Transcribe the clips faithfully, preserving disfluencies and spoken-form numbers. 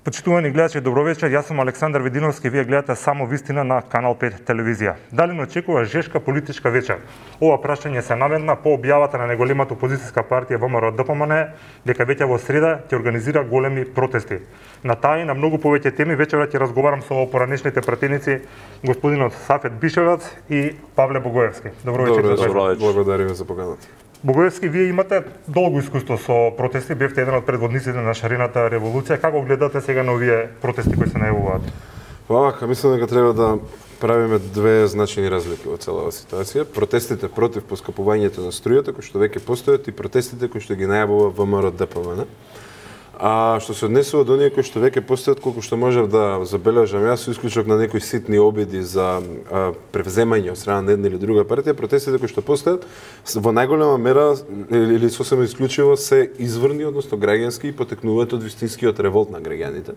Почитувани гледачи, добро вечер. Јас сум Александар Видиновски, вие гледате само вистина на Канал пет телевизија. Дали не очекува жешка политичка вечер? Ова прашање се наведна по објавата на неголемата опозицијска партија ВМРО-ДПМН дека веќе во среда ќе организира големи протести. На таа и на многу повеќе теми вечерот ќе разговарам со поранешните пратеници господинот Сафет Бишевац и Павле Богоевски. Добро вечер. Добро вечер. Благодариме за поканата. Богоевски, вие имате долго искуство со протести, бевте еден од предводниците на шарената револуција. Како гледате сега на овие протести кои се најавуваат? Вака, мислам дека треба да правиме две значајни разлики во целава ситуација. Протестите против поскапувањето на струјата, кои што веќе постојат, и протестите кои што ги најавува ВМРО-ДПМН. А што се однесува до оние кои што веќе постојат, колку што можев да забележам јас, со исклучок на некои ситни обиди за а, превземање од страна на една или друга партија, протестите кои што постојат во најголема мера или сосема исклучиво се изврни, односно граѓански, и потекнуваат од вистинскиот револт на граѓаните.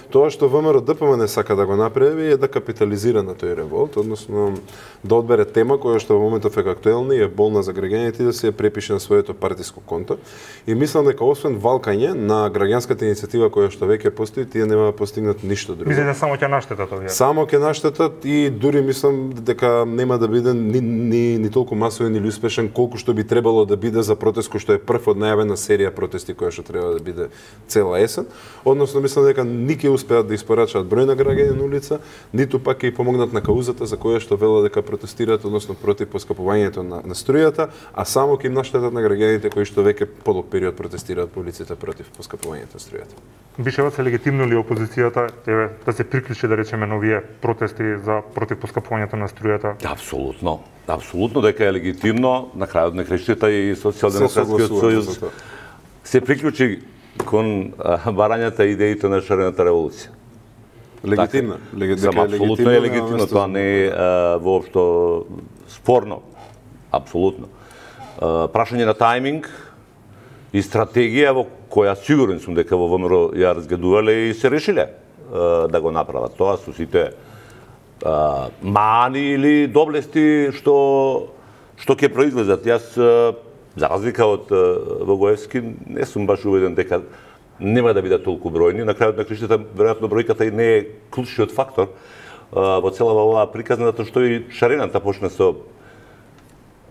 Тоа што ВМРО-ДПМН сака да го направи е да капитализира на тој револт, односно да одбере тема која што во моментов е актуелна и е болна за граѓаните и да се ја препише на своето партиско конто. И мислам дека освен валкање на граѓанската иницијатива која што веќе постои, тие нема да постигнат ништо друго. Мислите само ќе наштетат овие? Само ќе наштетат и дури мислам дека нема да биде ни, ни, ни толку масовен или успешен колку што би требало да биде за протест кој што е прв од најавена серија протести која што треба да биде цела есен. Односно мислам дека ни ќе успеат да испорачаат број на граѓани на улица, ниту пак ќе помогнат на каузата за која што велат дека протестираат, односно против поскапувањето на, на струјата, а само ќе им наштетат на граѓаните кои што веќе подолг период протестираат по улиците против поскапувањето на струјата. Бишевац, е легитимно ли опозицијата еве да се приклучи, да речеме, на овие протести за против поскапувањето на струјата? Апсолутно. Апсолутно дека е легитимно, на крајот на краиштата и Социјалдемократскиот сојуз се приклучи кон барањата и идеите на шарената револуција. Легитимно. Така, апсолутно е легитимно, тоа не е воопшто спорно. Апсолутно. Прашање на тајминг и стратегија во која сигурен сум дека во ВМРО ја разгледувале и се решиле да го направат тоа со сите мани или доблести што што ќе произлезат. Јас, за разлика од Богоевски, не сум баш уведен дека нема да бидат толку бројни. На крајот на краиштата, веројатно бројката и не е клучниот фактор во целава оваа приказна, затоа што и шарената почна со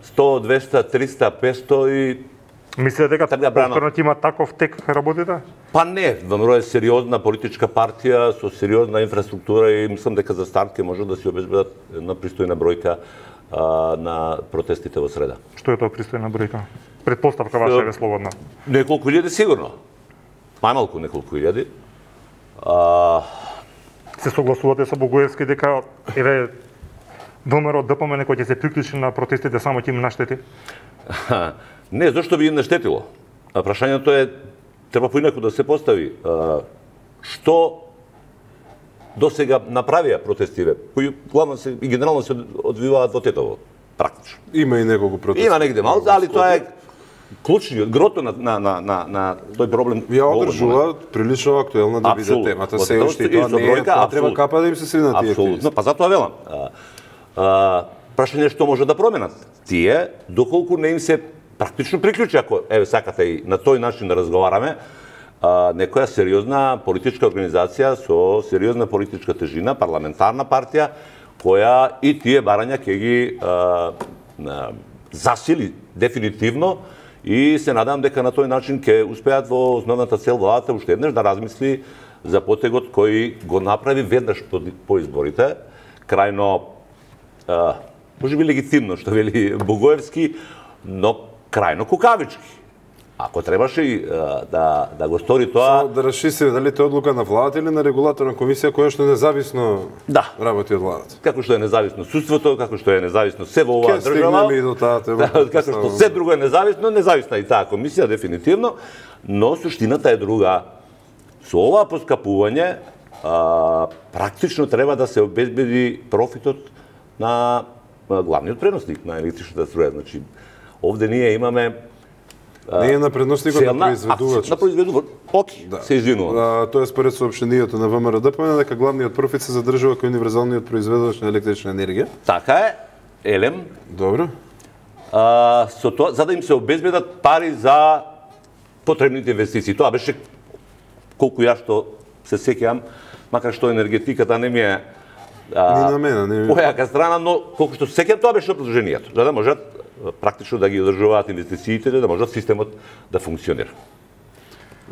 сто, двесте, триста, петсто и мислите дека повторно ќе има таков тек работите? Па не, ВМРО е сериозна политичка партија со сериозна инфраструктура и мислам дека за старт ќе може да се обезбедат една пристојна бројка а, на протестите во среда. Што е тоа пристојна бројка? Предпоставка ваша е слободна. Неколку илјади сигурно. Најмалку неколку илјади. А... Се согласувате со Богоевски дека еве ВМРО-ДПМН кој ќе се приклучи на протестите само ќе им наштети? Не, зашто би им наштетило? Прашањето е, треба поинаку да се постави. Што до сега направија протестиве, кои главно се и генерално се одвиваат во Тетово, практично. Има и неколку протести. Има негде малку, али тоа е клучниот, грото на, на, на, на, на тој проблем. Ја одржува прилично актуелна да биде темата. Се уште тоа не е, тоа треба капа да им се срина тие. Апсолутно, па затоа велам. А, а, прашање што може да променат. Тие, доколку не им се практично приклучи, ако еве сакате и на тој начин да разговараме, а, некоја сериозна политичка организација со сериозна политичка тежина, парламентарна партија, која и тие барања ќе ги а, а, засили дефинитивно и се надам дека на тој начин ќе успеат во основната цел владата уште еднаш да размисли за потегот кој го направи веднаш по, по изборите, крајно а, можеби легитимно што вели Богоевски, но крајно кукавички. Ако требаше и да, да го стори тоа... Само да расчистиме дали тоа одлука на владата или на регулаторна комисија која што независно да. работи од владата. Како што е независно судството, како што е независно се во оваа држава. Ке стигнеме и до таа тема. Да, како што се друго е независно, независна и таа комисија дефинитивно, но суштината е друга. Со ова поскапување а, практично треба да се обезбеди профитот на главниот преносник на електричната струја. Значи, овде ние имаме не е на преносникот на произведувачот. На произведувач. Оки, да. Се извинувам. Тоа е според соопштението на ВМРО-ДПМН дека главниот профит се задржува кај универзалниот произведувач на електрична енергија. Така е. Елем. Добро. А, со тоа за да им се обезбедат пари за потребните инвестиции. Тоа беше колку ја што се сеќавам, макар што енергетиката не ми е Ни на мене, не ми. појака страна, но колку што се сеќавам, тоа беше предложението, за да можат практично да ги одржуваат инвестициите, да можат системот да функционира.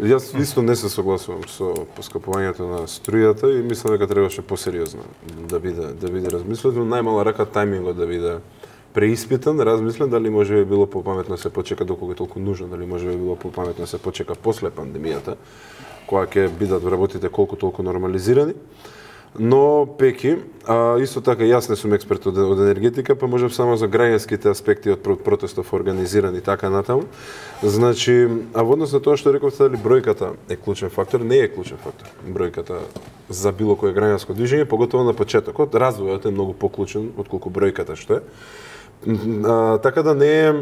Јас исто не се согласувам со поскапувањето на струјата и мислам дека требаше посериозно да биде да биде размислено, најмала рака тајмингот да биде преиспитан, размислен дали може би било попаметно се почека доколку е толку нужно, дали може би било попаметно се почека после пандемијата, кога ќе бидат работите колку толку нормализирани. Но пеки, а, исто така јас не сум експерт од, од енергетика, па можам само за граѓанските аспекти од протестов организирани така натаму. Значи, а во однос на тоа што рековте дали бројката е клучен фактор, не е клучен фактор. Бројката за било кое граѓанско движење, поготово на почетокот, развојот е многу поклучен отколку бројката што е. А, така да не е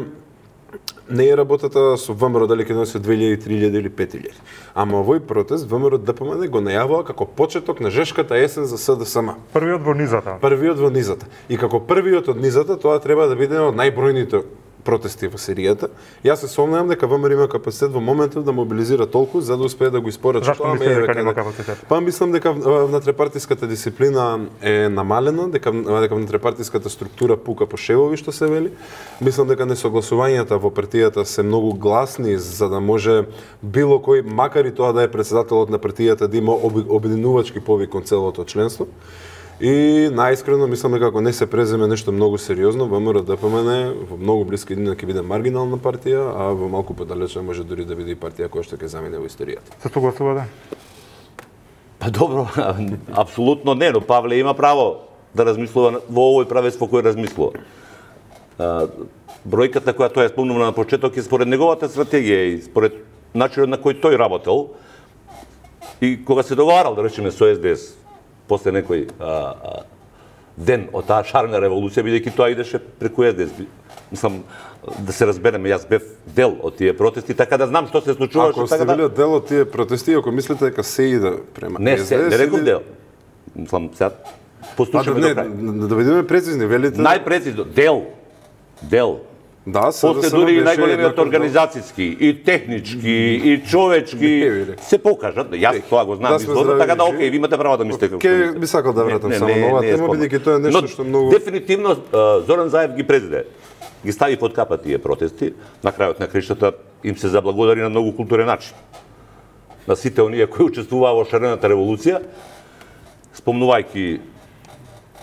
не е работата со ВМРО дали ќе носи две илјади, три илјади или пет илјади. Ама овој протест ВМРО ДПМН го најавува како почеток на жешката есен за СДСМ. Првиот во низата. Првиот во низата. И како првиот од низата, тоа треба да биде од најбројните протести во серијата. Јас се сомневам дека ВМРО има капацитет во моментот да мобилизира толку за да успее да го испорачи. Зашто мислите дека нема капацитет? Па мислам дека внатрепартиската дисциплина е намалена, дека дека внатрепартиската структура пука по шевови што се вели. Мислам дека несогласувањата во партијата се многу гласни за да може било кој, макар и тоа да е председателот на партијата, да има обединувачки повик кон целото членство. И најискрено мислам дека ако не се преземе нешто многу сериозно, ВМРО ДПМН во многу блиска иднина ќе биде маргинална партија, а во малку подалече може дури да биде и партија која што ќе замине во историјата. Се согласувате? Па добро, апсолутно не, но Павле има право да размислува во овој правец во кој размислува. А, бројката која тоа е спомнува на почеток е според неговата стратегија и според начинот на кој тој работел и кога се договарал, да речеме, со СДС, после некој а, а, ден од таа шарена револуција, бидејќи тоа идеше преку СДС. Мислам, да се разбереме, јас бев дел од тие протести, така да знам што се случуваше. Ако сте така били да... дел од тие протести, ако мислите дека се иде према не, СДС... Не, не реков или... дел. Мислам, сега послушаме не, до крај. Да бидеме прецизни, велите... Најпрецизно, дел. Дел. Да, се после да дури и беше најголемиот еднаков организацијски, и технички, и човечки, се покажат. Јас тоа го знам Да сме изворно, здрави, така да живи. окей, ви имате право да мислите како. Ке би сакал да вратам само на оваа тема, бидејќи тоа е нешто што многу... Дефинитивно Зоран Заев ги презеде. Ги стави под капа тие протести, на крајот на краиштата им се заблагодари на многу културен начин. На сите оние кои учествуваа во шарената револуција, спомнувајќи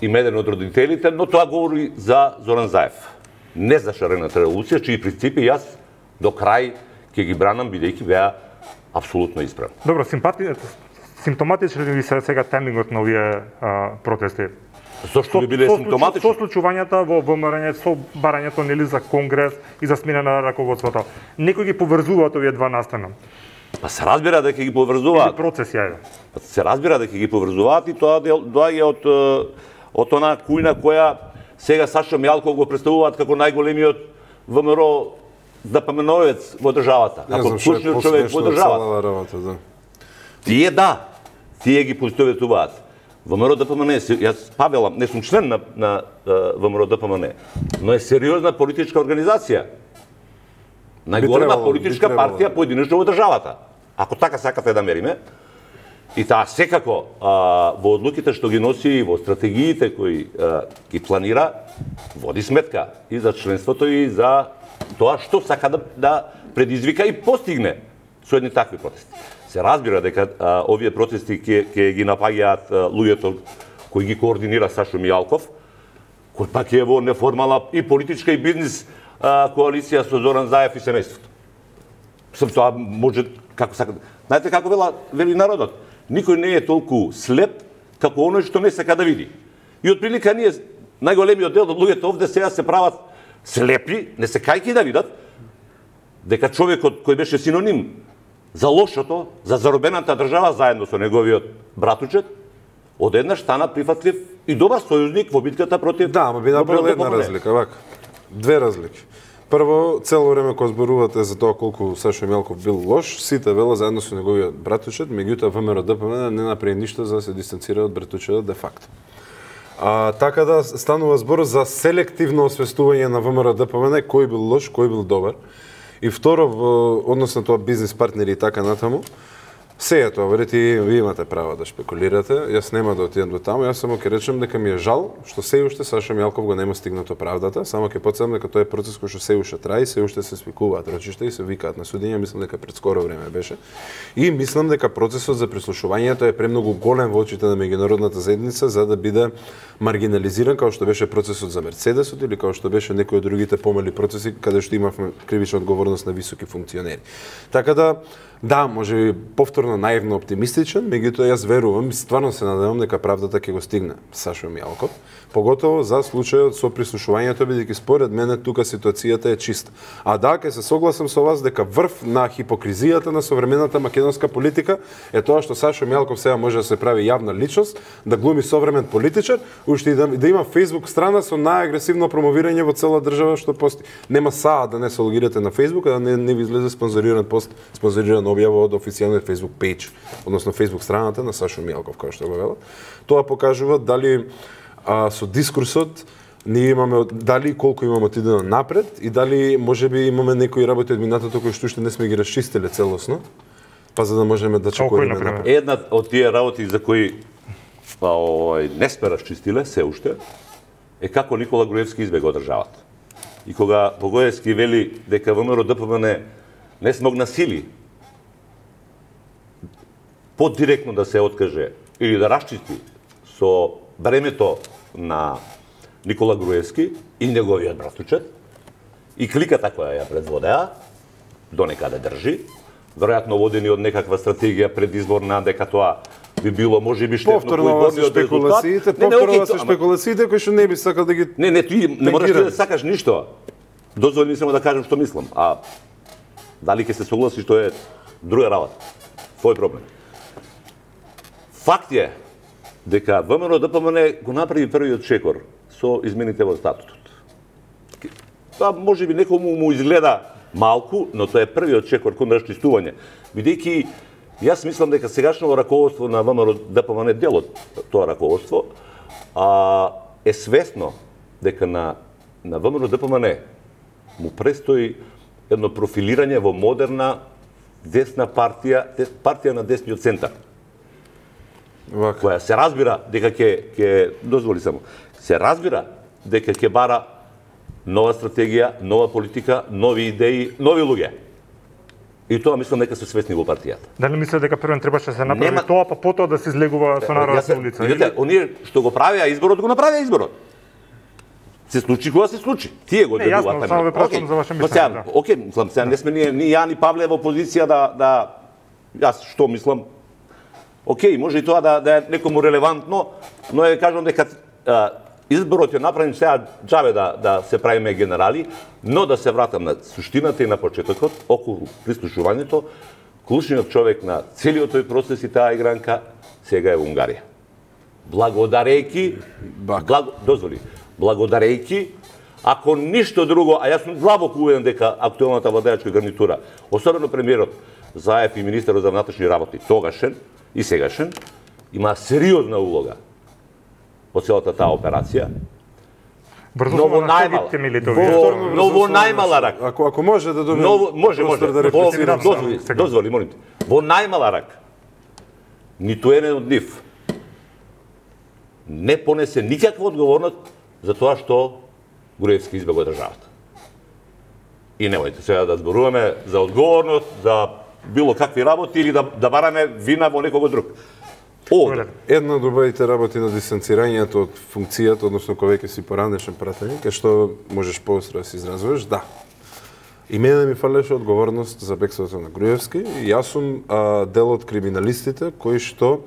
им еден од родителите, но тоа говори за Зоран Заев. Не за шарената револуција, чии принципи јас до крај ќе ги бранам, бидејќи беа апсолутно исправни. Добро, симпати... симптоматичен ли ви се сега темингот на овие а, протести? Зошто би биле со, симптоматични? Со случувањата во ВМРО, со барањето нели за конгрес и за смена на раководството. Некој ги поврзуваат овие два настана. Па се разбира дека ги Или поврзуваат. процеси, ајде. Па се разбира дека ги поврзуваат и тоа доаѓа од од онаа кујна која сега Сашо Мјалков го представуваат како најголемиот ВМРО ДПМНовец во државата, како клучниот човек во државата. Работа, да. Тие да, тие ги поистоветуваат. ВМРО ДПМН, јас Павела, не сум член на, на ВМРО ДПМН, но е сериозна политичка организација. Најголема требало, политичка би требало. партија поединечно во државата. Ако така сакате да мериме, и таа секако а, во одлуките што ги носи, во стратегиите кои а, ги планира, води сметка и за членството и за тоа што сака да, да предизвика и постигне со едни такви протести. Се разбира дека а, овие протести ќе ќе ги напаѓаат а, луѓето кои ги координира Сашо Мијалков, кој пак е во неформална и политичка и бизнис а, коалиција со Зоран Заев и семејството. Сам тоа може како сака. Знаете како вела вели народот? Никој не е толку слеп како оној што не сака да види. И отприлика ние најголемиот дел од луѓето овде сега се прават слепи, не се кајки да видат дека човекот кој беше синоним за лошото, за заробената држава заедно со неговиот братучет, одеднаш стана прифатлив и добар сојузник во битката против. Да, ама би направил една разлика, вака. Две разлики. Прво, цело време кога зборувате за тоа колку Сашо Мјалков бил лош, сите вела заедно со неговиот братучет, меѓутоа ВМРО ДПМН не направи ништо за да се дистанцира од братучетот де факто. А, така да станува збор за селективно освестување на ВМРО ДПМН кој бил лош, кој бил добар. И второ, во однос на тоа бизнис партнери и така натаму, Се е тоа, верите, ви имате право да шпекулирате. Јас нема да отидам до таму, јас само ќе речем дека ми е жал што се уште Саша Мјалков го нема стигнато правдата, само ќе потсетам дека тоа е процес кој што се уште трае, се уште се спикуваат рочишта и се викаат на судење, мислам дека пред скоро време беше. И мислам дека процесот за прислушувањето е премногу голем во очите на меѓународната заедница за да биде маргинализиран како што беше процесот за Мерцедесот или како што беше некои од другите помали процеси каде што имавме кривична одговорност на високи функционери. Така да да, може би повторно наивно оптимистичен, меѓутоа јас верувам и стварно се надевам дека правдата ќе го стигне Сашо Мјалков, поготово за случајот со прислушувањето, бидејќи според мене тука ситуацијата е чиста. А да, ќе се согласам со вас дека врв на хипокризијата на современата македонска политика е тоа што Сашо Мјалков сега може да се прави јавна личност, да глуми современ политичар, уште и да, да има Facebook страна со најагресивно промовирање во цела држава што пости. Нема саа да не се логирате на Facebook, а да не, не ви излезе спонзориран пост, спонзориран објава од официјалниот Facebook page, односно Facebook страната на Сашо Мјалков, како што го велат. Тоа покажува дали а, со дискурсот ние имаме дали колку имаме отидено напред и дали можеби имаме некои работи од минатото кои што уште не сме ги расчистиле целосно, па за да можеме да чекориме напред. Една од тие работи за кои па, овој, не сме расчистиле се уште е како Никола Груевски избега од државата. И кога Богоевски вели дека ВМРО Д П М Н не смогна сили подиректно да се откаже или да расчисти со времето на Никола Груевски и неговиот братучет и кликата која ја предводеа, до некаде држи, веројатно водени од некаква стратегија предизборна, дека тоа би било можеби штетно повторно со спекулациите, повторно со спекулациите кои што не би сакал да ги Не, не, ти не можеш да сакаш ништо. Дозволи ми само да кажам што мислам, а дали ќе се согласиш тоа е друга работа. Твој проблем. Факт е дека ВМРО Д П М Н го направи првиот чекор со измените во статутот. Тоа можеби некому му изгледа малку, но тоа е првиот чекор кон расчистување. Бидејќи јас мислам дека сегашното раководство на ВМРО Д П М Н, дел од тоа раководство, а, е свесно дека на на ВМРО Д П М Н му престои едно профилирање во модерна десна партија, партија на десниот центар. Вака. Која се разбира дека ќе ќе дозволи само. Се разбира дека ќе бара нова стратегија, нова политика, нови идеи, нови луѓе. И тоа мислам дека се свесни во партијата. Дали мислите дека првен требаше да се направи Нема... тоа, па потоа да се излегува со народната улица? Видите, оние што го правеа изборот, го направеа изборот. Се случи кога се случи. Тие го не, јасно, само ве прашувам за ваше мислење. Да. Окей, мислам, сега не сме ние, ни ја ни Павле во позиција да да јас што мислам. Окей, може и тоа да да е некому релевантно, но ја кажам дека а, изборот е направен сега џабе да да се правиме генерали, но да се вратам на суштината и на почетокот околу прислушувањето. Клучниот човек на целиот тој процес и таа игранка сега е во Унгарија. Благодарејќи, благо, дозволи, благодарејќи, ако ништо друго, а јас сум длабоко уведен дека актуелната владеачка гарнитура, особено премиерот Заев и министерот за внатрешни работи, тогашен и сегашен, има сериозна улога во целата таа операција. Брзо Но во најмала. најмала, но во најмала рак. Ако ако може да добием Но може, може. да Во, рефлексирам. дозволи, дозволи, молим те. Во најмала рак. Ниту еден од нив не понесе никаква одговорност за тоа што Груевски избега од државата. И немојте сега да зборуваме за одговорност, за било какви работи или да, да бараме вина во некого друг. Овде. Една од убавите работи на дистанцирањето од функцијата, односно кога веќе си поранешен пратеник, е што можеш поостро да се изразуваш, да. И мене ми фалеше одговорност за бегството на Груевски. И јас сум а, дел од криминалистите кои што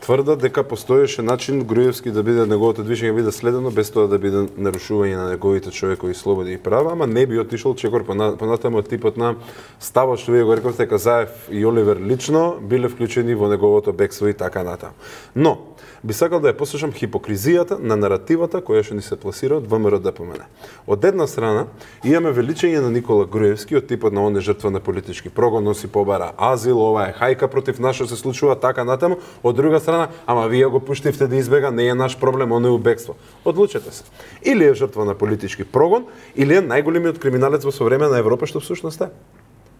тврдат дека постоеше начин Груевски да биде неговото движење биде следено без тоа да биде нарушување на неговите човекови слободи и права, ама не би отишол чекор понатаму од типот на ставот што вие го рековте дека Заев и Оливер лично биле вклучени во неговото бегство и така натаму. Но би сакал да ја послушам хипокризијата на наративата која што ни се пласира од ВМРО Д П М Н. Од една страна имаме величење на Никола Груевски од типот на он е жртва на политички прогон, носи побара азил, ова е хајка против нас што се случува така натаму. Од друга страна, ама вие го пуштивте да избега, не е наш проблем, он е у бегство. Одлучете се. Или е жртва на политички прогон, или е најголемиот криминалец во современата Европа што всушност е.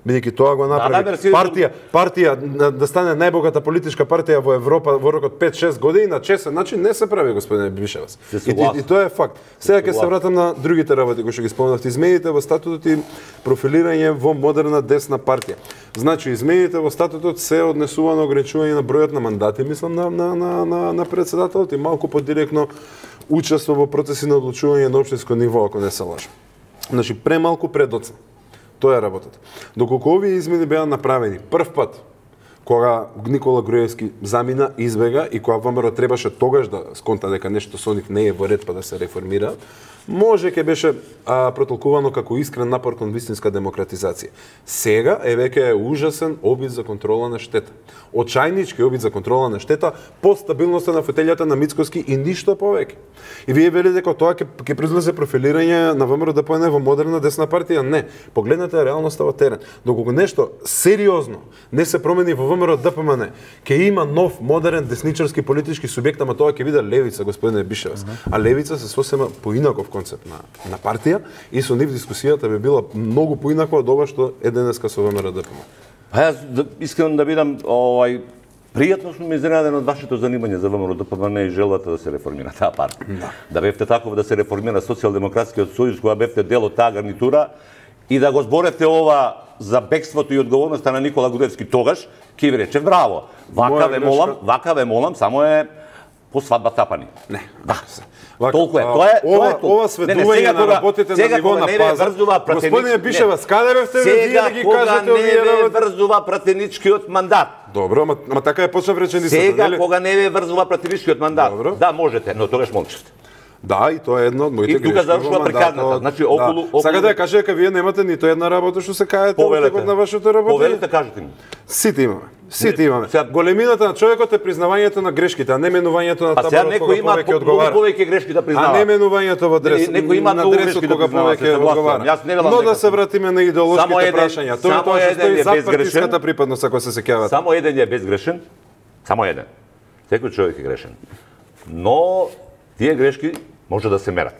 Бидејќи тоа го направи да, да, партија, партија да, да стане најбогата политичка партија во Европа во рокот пет-шест години на честен начин не се прави, господине Бишевас. И, и, и тоа е факт. Сега ќе се вратам на другите работи кои што ги спомнавте. Измените во статутот и профилирање во модерна десна партија. Значи, измените во статутот се однесува на ограничување на бројот на мандати, мислам, на, на, на, на, на председателот и малку подиректно учество во процеси на одлучување на општинско ниво, ако не се лажам. Значи, премалку предоцна. Тоа е работата. Доколку овие измени беа направени прв пат, кога Никола Груевски замина, избега и кога ВМРО требаше тогаш да сконта дека нешто со нив не е во ред па да се реформира, може ќе беше а, протолкувано како искрен напор кон вистинска демократизација. Сега е веќе ужасен обид за контрола на штета. Очајнички обид за контрола на штета по стабилноста на фотелјата на Мицкоски и ништо повеќе. И вие велите дека тоа ќе ќе произлезе профилирање на ВМРО-ДПМН во модерна десна партија? Не. Погледнете реалноста во терен. Доколку нешто сериозно не се промени во ВМРО-ДПМН, ќе има нов модерен десничарски политички субјект, ама тоа ќе биде левица, господине Бишевас. Uh -huh. А левица се сосема поинаков концепт на на партија и со нив дискусијата би била многу поинаква од ова што е денеска со ВМРО-ДПМН. Па јас да, искам да бидам овај пријатно сум изненаден од вашето занимање за ВМРО-ДПМН и желбата да се реформира таа партија. Да. Да бевте таков да се реформира Социјалдемократскиот сојуз кога бевте дел од таа гарнитура и да го зборете ова за бегството и одговорноста на Никола Груевски тогаш, ќе ви рече браво. Вака ве молам, вака ве молам, само е по свадба тапани. Не. Да. Вака, толку е. Тоа е, ова, тоа е ова сведување на работите на ниво на пазар. Господине Бишевас, каде бевте вие да ги кажете овие работи? Сега кога не ве врзува пратеничкиот мандат. Добро, ама, ама така е почнав реченицата, нели? Сега нели? кога не ве врзува пратеничкиот мандат. Добро. Да, можете, но тогаш молчите. Да, и тоа е една од моите грешки. И тука завршува прекарната. Значи околу да. околу Сака да ја кажа дека вие немате ниту една работа што се каете во текот на вашето работа. Повелете, кажете ми. Сите имаме. Сите имаме. Сега... Големината на човекот е признавањето на грешките, а не менувањето на таборот кога повеќе одговара. Некој има повеќе грешки да признава. А не менувањето во адрес. Некој има на адресот кога повеќе одговара. Но да се вратиме на идеолошките прашања. Тоа тоа што стои за партиската припадност, ако се сеќавате. Само еден е безгрешен. Само еден. Секој човек е грешен. Но тие грешки може да се мерат.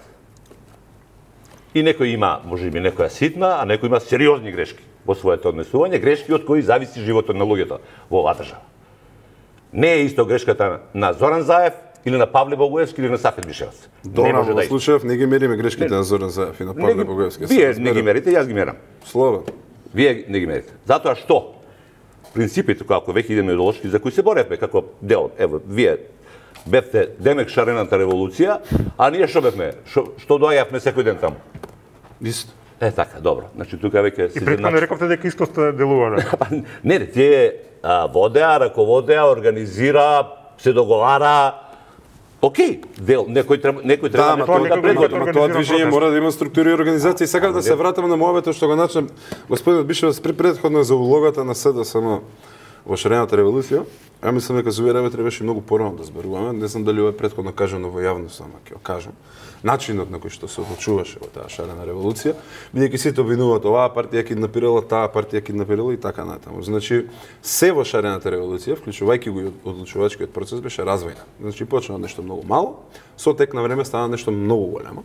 И некој има, може би, некоја ситна, а некој има сериозни грешки во своето однесување, грешки од кои зависи животот на луѓето во оваа држава. Не е исто грешката на Зоран Заев или на Павле Богоевски или на Сафет Бишевас. Добро, во да случајов не ги мериме грешките не. на Зоран Заев и на Павле не, Богоевски. Вие не ги мерите, јас ги мерам. Слободно. Вие не ги мерите. Затоа што принципите како веќе идеме идеолошки за кои се боревме како дел, ево, вие бевте демек шарената револуција, а ние што бевме? Шо, што доаѓавме секој ден таму? Исто. Е, така, добро. Значи, тука веќе се И претходно рековте дека исто сте делувале. Не, не, тие а, водеа, раководеа, организира, се договара. Океј, дел, некој треба, некој треба да, некој да предводи. Ама тоа движење мора да има структури и организации. Сакав да се вратам на мојавето што го начнам господинот Бишевас при предходно за улогата на СДСМ во шарената револуција. Ја мислам дека за овие работи требаше многу порано да зборуваме. Не знам дали ова е претходно кажано во јавност, ама ќе го кажам. Начинот на кој што се одлучуваше во таа шарена револуција, бидејќи сите обвинуваат оваа партија киднапирала, таа партија киднапирала и така натаму. Значи, се во шарената револуција, вклучувајќи го и одлучувачкиот процес, беше развојна. Значи, почна нешто многу мало, со тек на време стана нешто многу големо.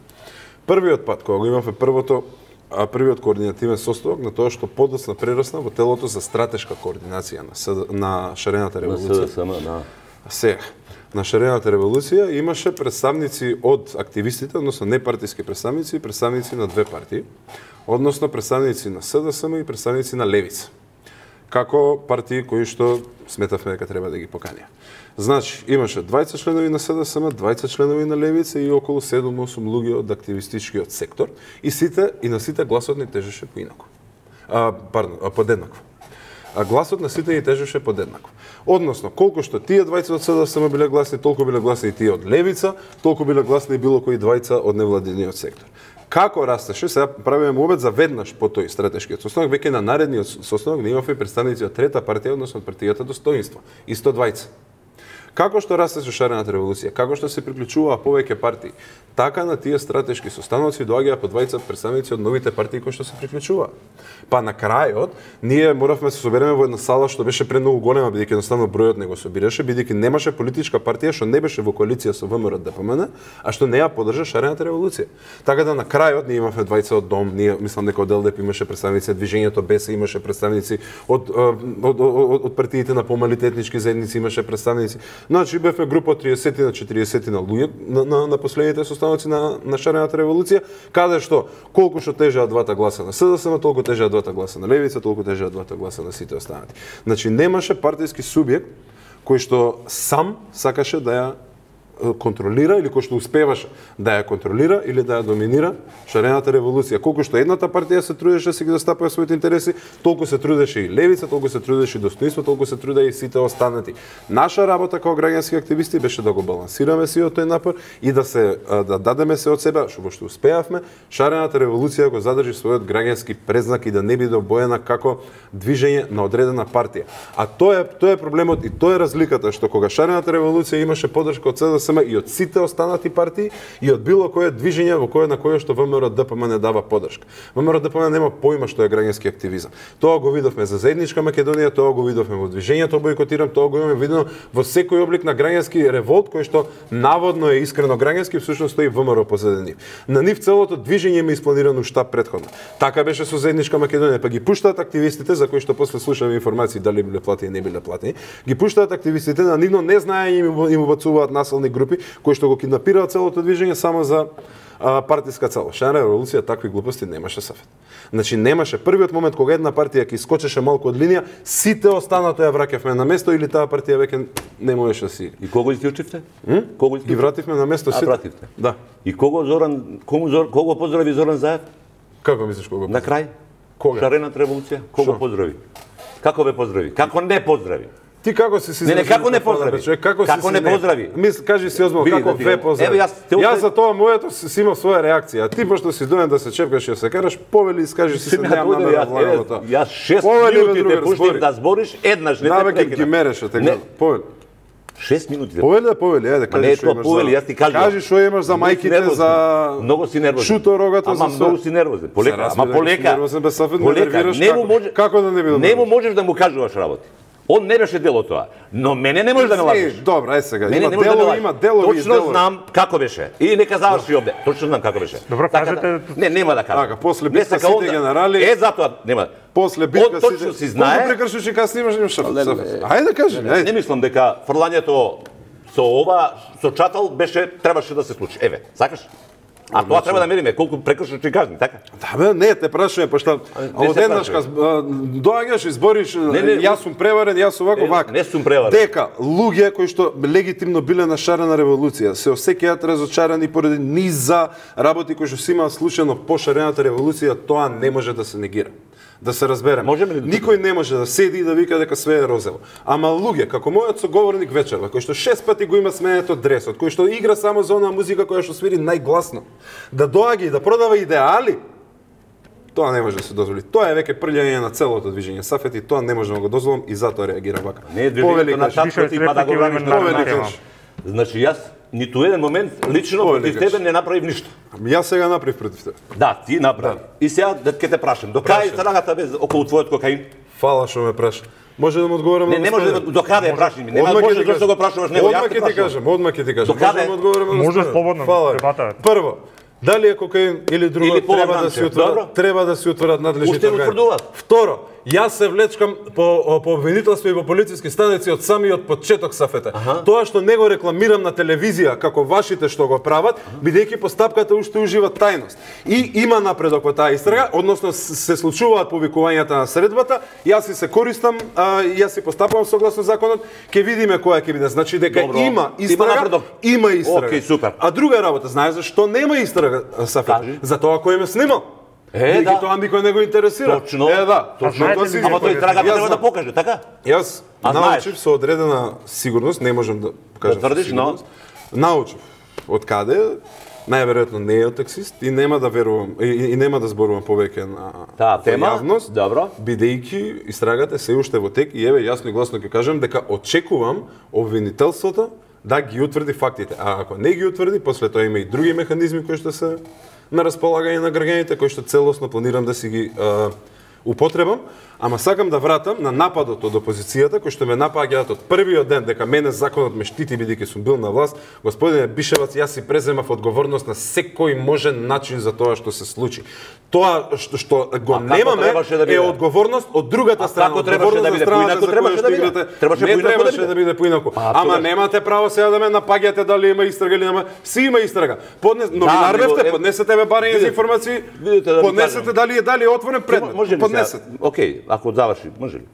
Првиот пат кога го имавме првото а првиот координативен составок на тоа што подоцна прерасна во телото за стратешка координација на, СД, на шарената револуција. На СДСМ, да. Сега, на шарената револуција имаше представници од активистите, односно непартиски представници и представници на две партии, односно представници на СДСМ и представници на Левица, како партии кои што сметавме дека треба да ги поканија. Значи, имаше двајцет членови на СДСМ, двајцет членови на Левица и околу седум-осум луѓе од активистичкиот сектор, и сите и на сите гласот ни тежеше поинаку. А, пардон, а, подеднакво. А гласот на сите ни тежеше подеднакво. Односно, колку што тие двајца од СДСМ биле гласни, толку биле гласни и тие од Левица, толку биле гласни и било кои двајца од невладиниот сектор. Како растеше, сега правиме обед за веднаш по тој стратешкиот состанок, веќе на наредниот состанок не имавме представници од трета партија, односно од партијата Достоинство, и сто двајца. Како што растеше шарената револуција, како што се приклучуваа повеќе партии, така на тие стратешки состаноци доаѓаа по двајца представници од новите партии кои што се приклучуваа. Па на крајот ние моравме да се собереме во една сала што беше премногу голема, бидејќи едноставно бројот не го собираше, бидејќи немаше политичка партија што не беше во коалиција со ВМРО Д П М Н, а што не ја поддржа шарената револуција. Така да на крајот ние имавме двајца од Дом, ние мислам дека од Л Д П имаше представници, Движењето Б С имаше представници, од од, од, од, од партиите на помалите етнички заедници имаше представници. Значи бевме група од триесет на четириесет на луѓе на, на, на последните состаноци на, на шарената револуција, каде што колку што тежеа двата гласа на С Д С М, толку тежеа двата гласа на левица, толку тежеа двата гласа на сите останати. Значи немаше партиски субјект кој што сам сакаше да ја контролира или кој што успеваше да ја контролира или да ја доминира шарената револуција. Колку што едната партија се трудеше да си ги застапува своите интереси, толку се трудеше и левица, толку се трудеше и достоинство, толку се трудеа и сите останати. Наша работа како граѓански активисти беше да го балансираме сиот тој напор и да се да дадеме се од себе, што што успеавме, шарената револуција го задржи својот граѓански презнак и да не биде обоена како движење на одредена партија. А тоа е тоа е проблемот и тоа е разликата што кога шарената револуција имаше поддршка од С Д С М и од сите останати партии и од било кое движење во кое на кое што ВМРО Д П М не дава поддршка. ВМРО Д П М нема појма што е граѓански активизам. Тоа го видовме за заедничка Македонија, тоа го видовме во движењето Бојкотирам, тоа го имаме видено во секој облик на граѓански револт кој што наводно е искрено граѓански, всушност стои ВМРО позади нив. На нив целото движење има испланирано штаб претходно. Така беше со заедничка Македонија, па ги пуштаат активистите за кои што после слушаме информации дали биле платени не биле платени, ги пуштаат активистите на нивно незнаење им убацуваат насилни групи кои што го киднапираат целото движење само за а, партиска цел. Шарена револуција такви глупости немаше сафет. Значи немаше првиот момент кога една партија ќе искочеше малку од линија, сите останато ја враќавме на место или таа партија веќе не можеше да си. И кого исклучивте? Кого ги вративме на место сите? А вративте. Да. И кого Зоран, кому Зор, кого поздрави Зоран Заев? Како мислиш кого? На крај? Кога? Шарената револуција? Кого Шо? поздрави? Како ве поздрави? Како не поздрави? Ти како си си Не, не, како не поздрави? Човек, како, Како си не си поздрави? Мис, кажи си озбил Види, како да ти ве го- поздрави. Еве, јас те Јас уште- за тоа моето си си имал своја реакција, а ти пошто си доен да се чепкаш и да се караш, повели искажи си се Си ме немам дојде, намера јас, да влагам во еве, тоа. јас шест Повели, бе, минути те другар, пуштив збори. да збориш, еднаш не Да, те бе, ги- ги прекинав. мереше, те Не. кажа. Повели. Шест минути. те- Повели да повели, ајде, Ма не кажи е што тоа имаш повели, за... јас ти кажувам. Кажи што имаш за Многу си мајките, нервозен. за Многу си нервозен. шуто рогато, за Ама све. многу си нервозен. Полека, Се ама разбира, дека си полека. нервозен, без сафет ме Полека, нервираш, не му како- може како да не би да Не му нервираш? можеш да му кажуваш работи. Он не беше дел од тоа. Но мене не можеш да ме лажеш. Е, Добро, ај сега. Мене Има не може да ме делови, лажеш. има делови и Точно делови. знам како беше. И нека заврши овде. Точно знам како беше. Добро, Така кажете- да- Не, нема да кажам. Така, после Не битка сака сите он да- генерали- Е, затоа нема. После Он битка точно си знае. Колку прекршиш и кај снимаш имаш шафет. Не, не, сафет. не. Ајде кажи, Не ајде. мислам дека фрлањето со ова, со чатал беше требаше да се случи. Еве, сакаш? А тоа треба да мериме колку прекршиш и казни, така? Да бе, не, те прашувам, пошто не се одеднаш прашувам. каз доаѓаш и збориш, Не, не, јас сум преварен, јас овако Не, вака. не сум преварен. Дека луѓе кои што легитимно биле на шарена револуција се осеќаат разочарани поради низа работи кои што се имаат случајно по шарената револуција, тоа не може да се негира. Да се разбереме. Можеме ли да- Никој не може да седи и да вика дека све е розово. Ама луѓе, како мојот соговорник вечерва, кој што шест пати го има сменето дресот, кој што игра само за онаа музика која што свири најгласно, да доаѓа и да продава идеали, тоа не може да се дозволи. Тоа е веќе прљање на целото движење Сафет и тоа не може да го дозволам и затоа реагира вака. Не е Повели, движењето на кажи. шапката и па да го браниш на Повели, румата. кажи. Значи јас ниту еден момент лично Повели, против кажи. тебе не направив ништо. Ами јас сега направив против тебе. Да, ти направи. И сега да ќе те прашам, до кај Прашај. страната без околу твојот кокаин? Фала што ме праша. Може да му одговорам Не, на не може да господина? до каде ја прашаш ми. Нема Одмак ќе може ти зашто кажам. го прашуваш него. Јас Одмак те ќе ти прашувам. кажам, одмак ќе ти кажам. До каде? Може да му одговорам на Може господина? слободно, Фала. дебата. Прво, дали е кокаин или друго, Или треба да полуграмче. се утврдат, Добро. треба да се утврдат надлежните Уште го органи. утврдуваат. Второ, јас се влечкам по по обвинителство и по полициски станици од самиот почеток Сафете. Тоа што не го рекламирам на телевизија како вашите што го прават, бидејќи постапката уште ужива тајност. И има напредок во таа истрага, односно с- се случуваат повикувањата на средбата, јас си се користам, а, јас си постапувам согласно законот, ќе видиме која ќе биде. Значи дека Добро. има Има истрага, напредок. има истрага. Океј, супер. А друга работа, знаеш зашто нема истрага, Сафет? Кажи. Затоа кој ме снимал. Е, Бидејќи да. тоа никој не го интересира. Точно. Е, да. Точно. Точно. Тоа Знаете си ли- ги Ама тој покажа. трагата Јас треба да знам. покаже, така? Јас А научив со одредена сигурност, не можам да кажам. Да тврдиш, со сигурност. Научив од каде најверојатно не е таксист и нема да верувам и, и нема да зборувам повеќе на таа тема. јавност, Добро. бидејќи истрагата се уште во тек и еве јасно и гласно ќе кажам дека очекувам обвинителството да ги утврди фактите. А ако не ги утврди, после тоа има и други механизми кои што се на располагање на граѓаните, кои што целосно планирам да си ги а, употребам, ама сакам да вратам на нападот од опозицијата, кој што ме напаѓаат од првиот ден дека мене законот ме штити бидејќи сум бил на власт. Господине Бишевац, јас си преземав одговорност на секој можен начин за тоа што се случи. Тоа што, што го немаме да е одговорност од другата страна. Како требаше да биде поинаку, требаше да биде. Требаше не требаше да биде поинаку. Ама немате право сега да ме напаѓате дали има истрага или нема. Си има истрага. Поднес новинар бевте, поднесете ме барање за информации. Поднесете дали е дали е отворен предмет. Поднесете. Океј, ако заврши, може ли?